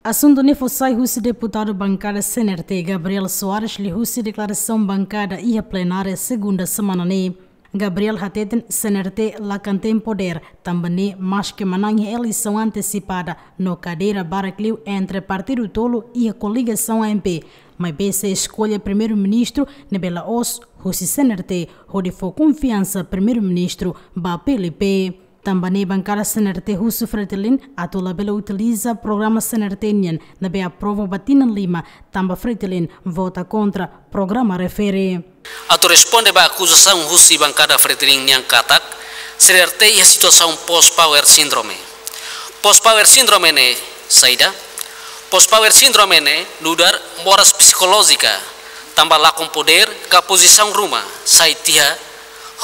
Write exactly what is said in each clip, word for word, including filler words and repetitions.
Asuntu ne'e fó sai husi deputadu bankada C N R T, Gabriel Soares, liuhusi deklarasaun bankada iha plenária segunda semana ne'e. Gabriel hateten C N R T la kantem podér, tanba ne'e maske manán iha eleisaun antesipada no kadeira barak liu entre partidu tolu iha koligasaun A M P, maibé sei eskolla primeiru-ministru ne'ebé la'ós husi C N R T, hodi fó konfiansa primeiru-ministru ba P L P. Tanba ne'e bankada C N R T husu Fretilin atu labele utiliza programa C N R T nian ne'ebé aprova ba tinan lima, tanba Fretilin vota kontra programa refere. Atu responde ba akuzasaun husi bankada Fretilin nian katak C N R T iha situasaun post power syndrome. Post power syndrome ne'e saida? Post power syndrome ne'e nu'udar moras psikolójika, tanba lakon podér ka pozisaun ruma, sai tiha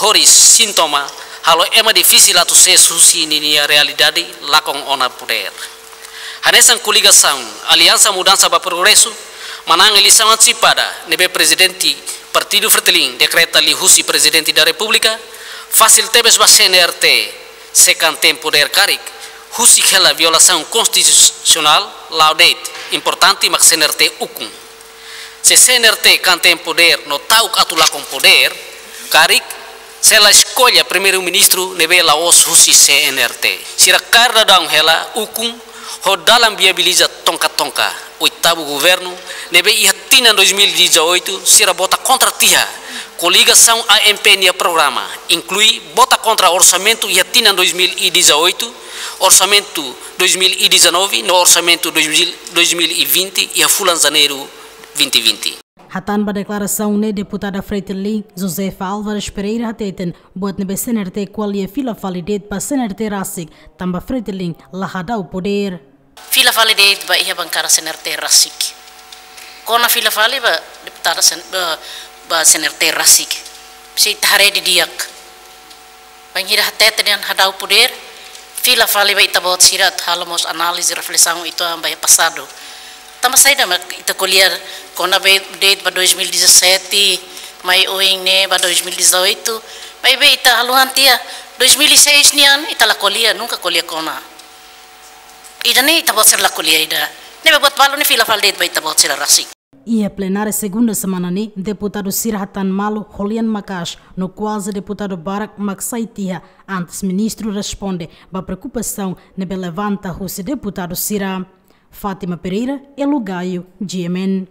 horiis sintoma halo ema difisil atu sees husi ninia realidade lakon ona podér. Hanesan koligasaun Aliansa Mudansa ba Progresu manán eleisaun antesipada ne'ebé prezidente partidu Fretilin dekreta liuhusi Prezidente da Repúblika, fasil tebes ba C N R T sei kantem podér karik husik hela violasaun konstitusionál la'o de'it, importante mak C N R T ukun. Se C N R T kantem podér no ta'uk atu lakon podér, karik sei la eskolla primeiru-ministru ne'ebé la'ós husi C N R T. Sira kaer daudaun hela ukun ho dalan viabiliza tonka-tonka oitavu governu ne'ebé iha tinan dois mil e dezoito sira vota kontra tiha koligasaun A M P nia programa, inklui vota kontra orsamentu iha tinan dois mil e dezoito, orsamentu dois mil e dezanove no orsamentu dois mil, dois mil e vinte iha fulan Janeiru vinte vinte. Hatán ba deklarasaun ne'e, deputada Fretilin, Josefa Álvares Pereira, hateten buat ne'ebé C N R T ko'alia fila fali de'it ba C N R T rasik, tanba Fretilin la hadau podér. Fila fali de'it ba iha bankada C N R T rasik. Kona fila fali ba deputada sen-, ba, ba C N R T rasik. Se ita haree didi'ak. Bainhira hatete dehan hadau podér, fila fali ba ita-boot sira atu halo mós análize, reflesaun uitoan ba iha pasadu. Tanba saida mak ita ko'alia kona-ba de'it ba dois mil e dezassete, mai oin ne'e ba dois mil e dezoito, maibé ita haluha tiha dois mil e seis nian, ita la ko'alia, nunka ko'alia kona. Ida-ne'e ita-boot sira la ko'alia ida. Ne'ebé buat balu ne'e fila fali de'it ba ita-boot sira rasik. Iha plenária segunda semana ne'e, deputadu sira hatán malu ho lian maka'as no kuaze deputadu barak mak sai tiha antes ministru responde ba preokupasaun ne'ebé levanta husi deputadu sira. Fátima Pereira, Elo Gaio, G M N.